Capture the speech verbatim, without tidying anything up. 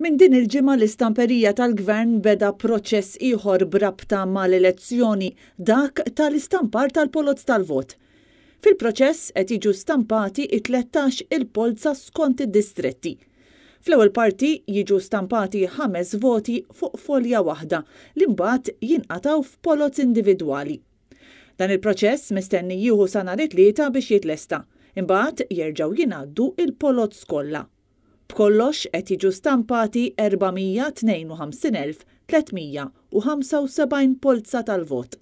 Minn din il-ġimgħa l-istamperija tal-Gvern beda proċess ieħor b'rabta mal-elezzjoni, dak tal-istampar tal-poloz tal-vot. Fil-proċess qed jiġu stampati it-tlettax il-polza skont id-distretti. Fl-ewwel parti jiġu stampati ħames voti fuq folja waħda li mbagħad jinqatgħu f'poloz individwali. Dan il-proċess mistenni jieħu sa nhar it-Tlieta biex jitlesta, imbagħad jerġgħu jingħaddu il-poloz kollha. B'kollox qed jiġu stampati erba' mija tnejn u ħamsin elf tliet mija u ħamsa u sebgħin polza tal-vot.